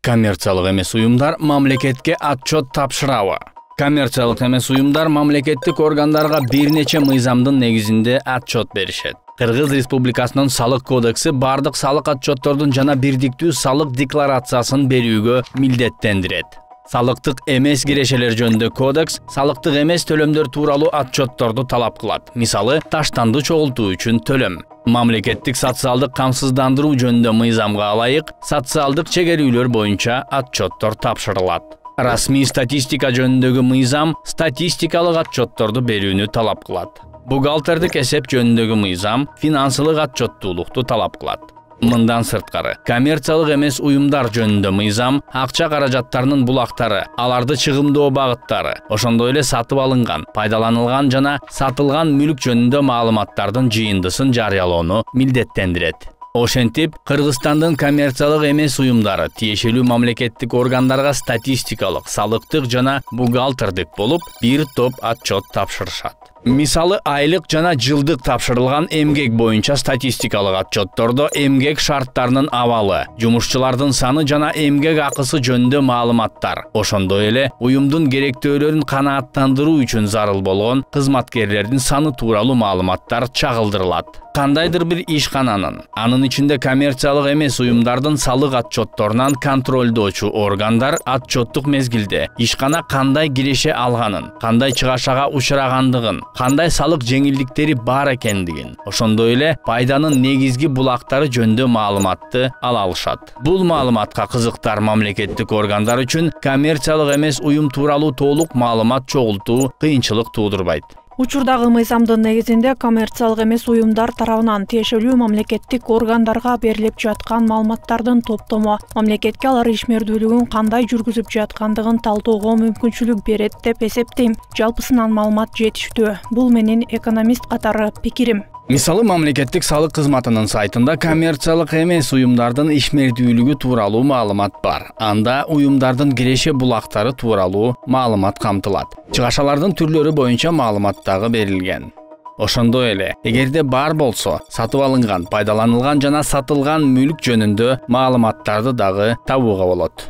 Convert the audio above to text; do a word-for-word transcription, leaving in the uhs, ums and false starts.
Коммерциялык эмес уюмдар мамлекетке отчет тапшырабы? Коммерциялык эмес уюмдар мамлекеттик органдарга бир нече мыйзамдын негизинде отчет беришет. Кыргыз Республикасынын салык кодекси бардык салык отчеттордун жана бирдиктүү салык декларациясын берүүгө милдеттендирет. Салыктык эмес кирешелер жөнүндө кодекс салыктык эмес төлөмдөр тууралуу отчетторду талап кылат. Мисалы, таштанды чогултуу үчүн төлөм. Мамлекеттик социалдык камсыздандыруу жөнүндө мыйзамга ылайык социалдык чегерүүлөр боюнча отчеттор тапшырылат. Расмий статистика жөнүндөгү мыйзам статистикалык отчетторду берүүнү талап кылат. Бухгалтердик эсеп жөнүндөгү мыйзам финансылык отчеттуулукту талап кылат. Мындан сырткары, коммерциялык эмес уюмдар жөнүндө мыйзам акча каражаттарынын булактары, аларды чыгымдоо багыттары, ошондой эле сатып алынган, пайдаланылган жана сатылган мүлк жөнүндө маалыматтардын жыйындысын жарыялоону милдеттендирет. Ошентип, Кыргызстандын коммерциялык эмес уюмдары тиешелүү мамлекеттик органдарга статистикалык, салыктык жана бухгалтердик болуп, бир топ отчет тапшырышат. Мисалы, айлык жана жылдык тапшырылган эмгек боюнча статистикалык отчеттордо эмгек шарттарынын абалы, жумушчулардын саны жана эмгек акысы жөнүндө маалыматтар, ошондой эле уюмдун керектөөлөрүн канааттандыруу үчүн зарыл болгон кызматкерлердин саны тууралуу маалыматтар чагылдырылат. Кандайдыр бир ишкананын, анын ичинде коммерциялык эмес уюмдардын салык отчетторунан контролдоочу органдар отчеттук мезгилде ишкана кандай киреше алганын, кандай чыгашага учурагандыгын, кандай салык жеңилдиктери бар экендигин, ошондой эле пайданын негизги булактары жөнүндө маалыматты ала алышат. Бул маалыматка кызыктар мамлекеттик органдар үчүн коммерциялык эмес уюм тууралуу толук маалымат чогултуу кыйынчылык туудурбайт. Учурдагы мыйзамдын негизинде коммерциялык эмес уюмдар тарабынан тиешелүү мамлекеттик органдарга берилип жаткан маалыматтардын топтому мамлекетке алар ишмердүүлүгүн кандай жүргүзүп жаткандыгын талдоого мүмкүнчүлүк берет деп эсептейм. Жалпысынан маалымат жетиштүү. Бул менин экономист катары пикирим. Мисалы, мамлекеттик салык кызматынын сайтында коммерциялык эмес уюмдардын ишмердүүлүгү тууралуу маалымат бар. Анда уюмдардын киреше булактары тууралуу маалымат камтылат. Чыгашалардын түрлөрү боюнча маалымат дагы берилген. Ошондой эле, эгерде бар болсо, сатып алынган, пайдаланылган жана сатылган мүлк жөнүндө маалыматтарды дагы табууга болот.